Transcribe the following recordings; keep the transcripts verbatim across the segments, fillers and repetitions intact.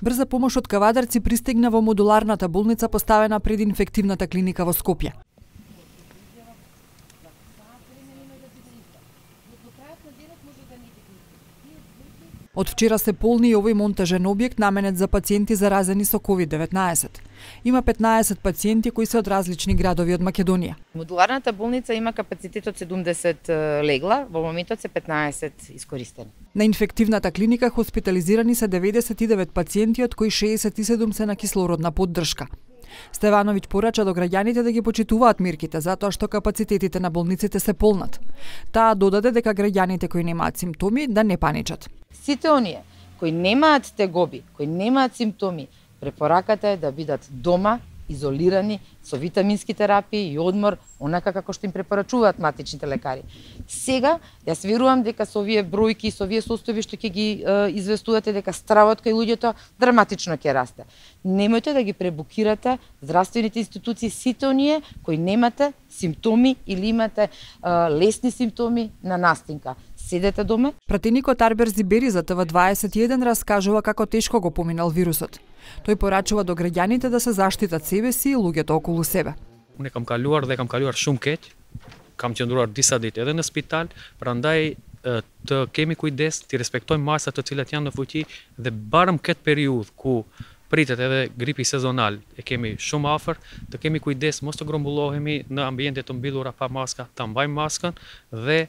Брза помош од Кавадарци пристигна во модуларната болница поставена пред инфективната клиника во Скопје. Од вчера се полни и овој монтажен објект наменет за пациенти заразени со ковид деветнаесет. Има петнаесет пациенти кои се од различни градови од Македонија. Модуларната болница има капацитет од седумдесет легла, во моментот се петнаесет искористени. На инфективната клиника хоспитализирани се деветдесет и девет пациенти, од кои шеесет и седум се на кислородна поддршка. Стевановиќ порача до граѓаните да ги почитуваат мерките, затоа што капацитетите на болниците се полнат. Таа додаде дека граѓаните кои немаат симптоми да не паничат. Сите оние кои немаат тегоби, кои немаат симптоми, препораката е да бидат дома, изолирани, со витамински терапии и одмор, онака како што им препорачуваат матичните лекари. Сега, јас верувам дека со овие бројки, со овие состојби што ќе ги е, известувате дека стравот кај луѓето драматично ќе расте. Немојте да ги пребукирате здравствените институции сите оние кои немате симптоми или имате е, лесни симптоми на настинка. Седете дома. Пратеникот Арбер Зибери за Т В дваесет и еден раскажува како тешко го поминал вирусот. Тој порачува до граѓаните да се заштитат себе си и луѓето околу себе. Уне кам калуар dhe kam kaluar shumë keq. Kam qëndruar disa ditë edhe në spital, prandaj të kemi kujdes, të respektojmë masat të cilat janë në fuqi dhe barëm këtë periudhë ku pritet edhe gripi sezonal e kemi shumë afër, të kemi kujdes mos të grumbullohemi në ambiente të mbyllura pa maska, ta mbajmë maskën dhe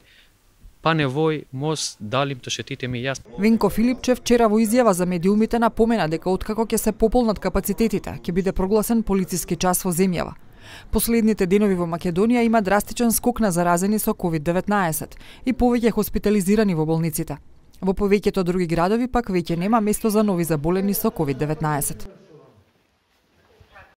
па невој мос далим të шетитеми јас. Венко Филипчев вчера во изјава за медиумите напомена дека откако ќе се пополнат капацитетите, ќе биде прогласен полициски час во земјава. Последните денови во Македонија има драстичен скок на заразени со ковид деветнаесет и повеќе хоспитализирани во болниците. Во повеќето други градови пак веќе нема место за нови заболени со ковид деветнаесет.